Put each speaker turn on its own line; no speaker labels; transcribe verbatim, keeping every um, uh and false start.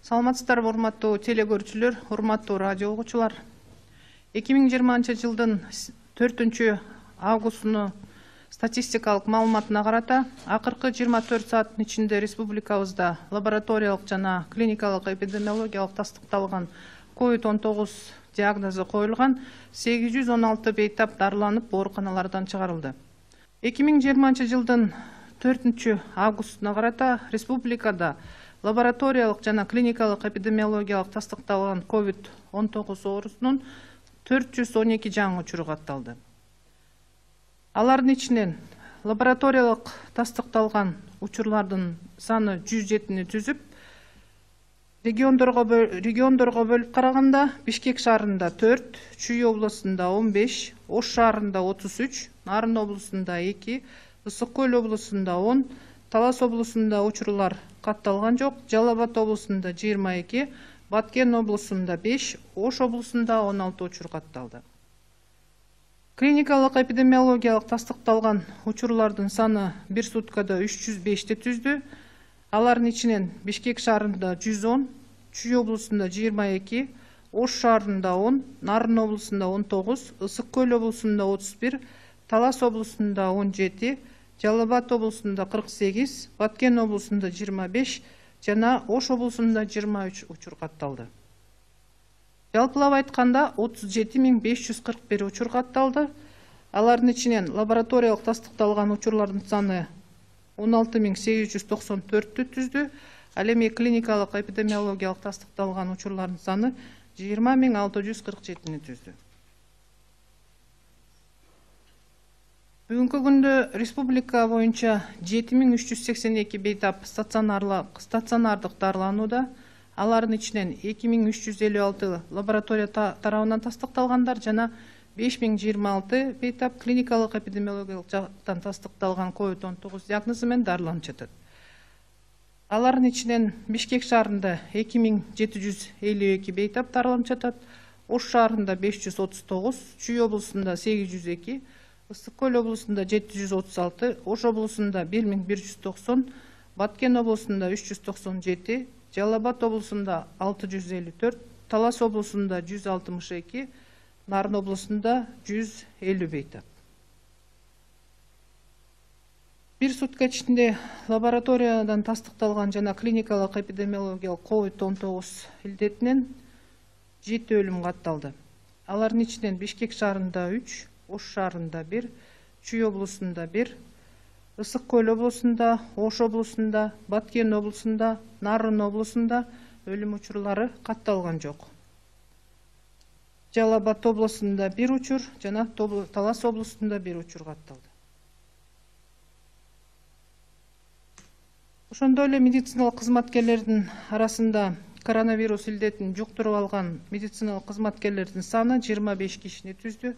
Саламатсыздарбы, урматтуу телекөрүүчүлөр, урматтуу радио угуучулар. эки миң жыйырманчы жылдын төртүнчү августуну статистикалык маалыматына карата акыркы жыйырма төрт сааттын ичинде республикабызда лабораториялык жана клиникалык эпидемиологиялык тастыкталган ковид он тогуз диагнозу коюлган сегиз жүз он алты бейтап дарыланып ооруканалардан чыгарылды. эки миң жыйырманчы жылдын төртүнчү августуна карата республикада лабораториялык жана клиникалык эпидемиологиялык тастыкталган ковид он тогуз оорусунун төрт жүз он эки жаңы учуру катталды. Алардын ичинен лабораториялык тастыкталган учурлардын саны жүз жетини түзүп, региондорго региондорго бөлүп караганда Бишкек шаарында төрт, Чүй облусунда он беш, Ош шаарында отуз үч, Нарын облусунда эки, Ысык Көл облусунда он, Талас облусунда учурлар катталган жок, Жалал Абад облусунда жыйырма эки, Баткен облусунда беш, Ош облусунда он алты учур катталды. Клиникалык эпидемиологиялык тастыкталган учурлардын саны бир суткада үч жүз бешти түздү. Алардын ичинен Бишкек шаарында жүз он, Чүй облусунда жыйырма эки, Ош шаарында он, Нарын облусунда он тогуз, Ысык Көл облусунда отуз бир, Талас облусунда он жети, Жалал Абад облусунда кырк сегиз, Баткен облусунда жыйырма беш жана Ош облусунда жыйырма үч учур катталды. Жалпылап айтканда отуз жети миң беш жүз кырк бир учур катталды. Алардын ичинен лабораториялык тастыкталган учурлардын саны он алты миң сегиз жүз токсон төрттү түздү. Ал эми клиникалык эпидемиологиялык тастыкталган учурлардын саны жыйырма миң алты жүз кырк жетини түздү. Бүгүнкү күндө республика боюнча жети миң үч жүз сексен эки бейтап стационардык дарыланууда. Алардын ичинен эки миң үч жүз элүү алты лаборатория тарабынан тастыкталгандар жана беш миң жыйырма алты бейтап клиникалык эпидемиологиялык жактан тастыкталган ковид он тогуз диагнозу менен дарыланып жатат. Алардын ичинен Бишкек шаарында эки миң жети жүз элүү эки бейтап дарыланып жатат, Ош шаарында беш жүз отуз тогуз, Чүй облусунда сегиз жүз эки, Ысык Көл облусунда жети жүз отуз алты, Ош облусунда бир миң бир жүз токсон, Баткен облусунда үч жүз токсон жети, Жалал Абад облусунда алты жүз элүү төрт, Талас облусунда жүз алтымыш эки, Нарын облусунда жүз элүү бейтап. Бир сутка ичинде лабораториядан тастыкталган жана клиникалык эпидемиологиялык ковид он тогуз илдетинен жети өлүм катталды. Алардын ичинен Бишкек шаарында үч, Ош шаарында бир, Чүй облусунда бир, Ысык Көл облусунда, Ош облусунда, Баткен облусунда, Нарын облусунда өлүм учурлары катталган жок. Жалал Абад облусунда бир учур жана Талас облусунда бир учур катталды. Ошондой эле медициналык кызматкерлердин арасында коронавирус илдетин жуктуруп алган медициналык кызматкерлердин саны жыйырма беш кишини түздү.